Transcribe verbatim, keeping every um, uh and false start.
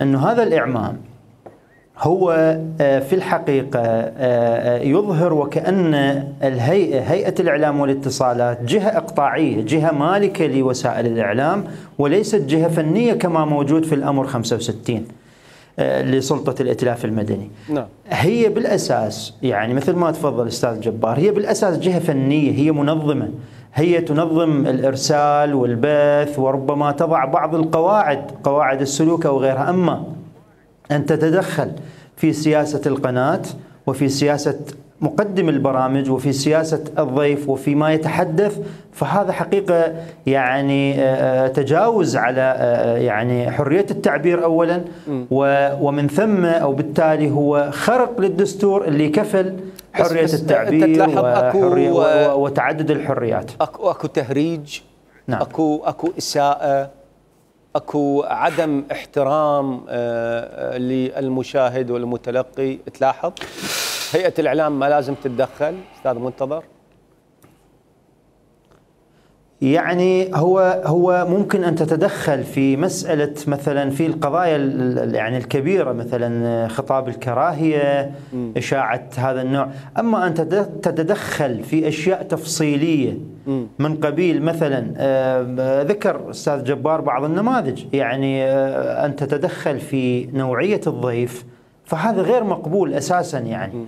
أنه هذا الإعمام هو في الحقيقة يظهر وكأن الهيئة هيئة الإعلام والاتصالات جهة إقطاعية، جهة مالكة لوسائل الإعلام وليست جهة فنية كما موجود في الأمر خمسة وستين لسلطة الائتلاف المدني. نعم. هي بالأساس يعني مثل ما تفضل أستاذ جبار، هي بالأساس جهة فنية، هي منظمة، هي تنظم الإرسال والبث وربما تضع بعض القواعد، قواعد السلوك أو غيرها. أما أن تتدخل في سياسة القناة وفي سياسة مقدم البرامج وفي سياسة الضيف وفي ما يتحدث، فهذا حقيقة يعني تجاوز على يعني حرية التعبير أولا، ومن ثم أو بالتالي هو خرق للدستور اللي كفل حرية التعبير وحرية وتعدد الحريات. أكو, أكو تهريج، نعم. أكو, أكو إساءة، أكو عدم احترام للمشاهد والمتلقي. تلاحظ هيئة الإعلام ما لازم تتدخل أستاذ منتظر؟ يعني هو هو ممكن أن تتدخل في مسألة مثلا في القضايا يعني الكبيرة، مثلا خطاب الكراهية، م. إشاعة هذا النوع. أما أن تتدخل في أشياء تفصيلية م. من قبيل مثلا ذكر أستاذ جبار بعض النماذج، يعني أن تتدخل في نوعية الضيف، فهذا غير مقبول أساسا يعني.